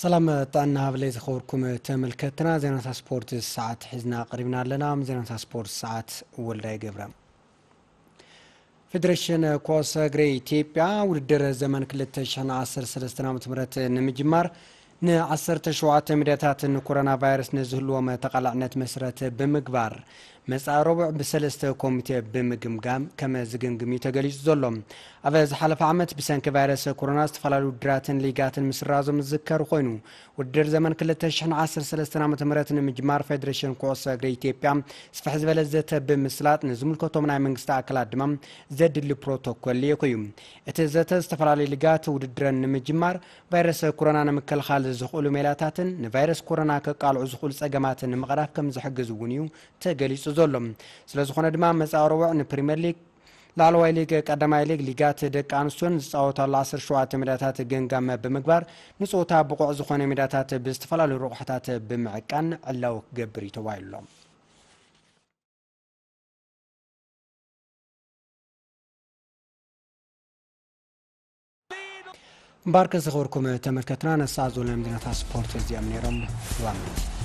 ሰላም ጥዕና ሃብለይ ዝኸበርኩም ተመልከትና፣ ዜናታት ስፖርት ሰዓት ሒዝና ቀሪብና ኣለና። ዜናታት ስፖርት ሰዓት ወልዳይ ገብረ። ፌዴሬሽን ኩዕሶ እግሪ ኢትዮጵያ ውድድር ዘመን ክልተ ሽሕን ዓሰርተ ሰለስተን ዓመተ ምህረት ንምጅማር ንዓሰርተ ሸውዓተ ሜዳታት ንኮሮና ቫይረስ ንዝህልዎም ተቓላዕነት መሰረት ብምግባር መጻኢ ረቡዕ ብሰለስተ ኮሚቴ ብምግምጋም ከም ዝግምግም እዩ ተገሊጹ ዘሎ። ኣብ ዝሓለፈ ዓመት ብሰንኪ ቫይረስ ኮሮና ዝተፈላለዩ ውድድራትን ሊጋትን ምስራዞም ዝዝከር ኮይኑ፣ ውድድር ዘመን ክልተ ሽሕን ዓሰርተ ሰለስተን ዓመተ ምህረት ንምጅማር ፌዴሬሽን ኩዕሶ እግሪ ኢትዮጵያ ስፍሕ ዝበለ ዘተ ብምስላጥ ንዝምልከቶም ናይ መንግስቲ ኣካላት ድማ ዘድሊ ፕሮቶኮል ልኢኹ እዩ። እቲ ዘተ ዝተፈላለዩ ሊጋት ውድድረን ንምጅማር ቫይረስ ኮሮና ንምክልኻል ዝኽእሉ ሜላታትን ንቫይረስ ኮሮና ከቃልዑ ዝኽእሉ ጸገማትን ንምቕራፍ ከም ዝሕግዝ እውን እዩ ተገሊጹ ዘሎ። ስለ ዝኾነ ድማ መጻኢ ረቡዕ ንፕሪምየር ሊግ፣ ላዕለዋይ ሊግ፣ ቀዳማይ ሊግ፣ ሊጋት ደቂ ኣንስትዮን ዝጻወታሉ ዓሰርተ ሸውዓተ ሜዳታት ገምጋም ብምግባር ንጸወታ ብቑዕ ዝኾነ ሜዳታት ብዝተፈላለዩ ረቑሕታት ብምዕቃን ዕላዊ ክገብር እዩ ተባሂሉ ኣሎ። እምበኣርከ ዝኸበርኩም ተመልከትና፣ ነሰዓት ዘለዎም ዜናታት ስፖርት እዚኦም ነይሮም። ዋና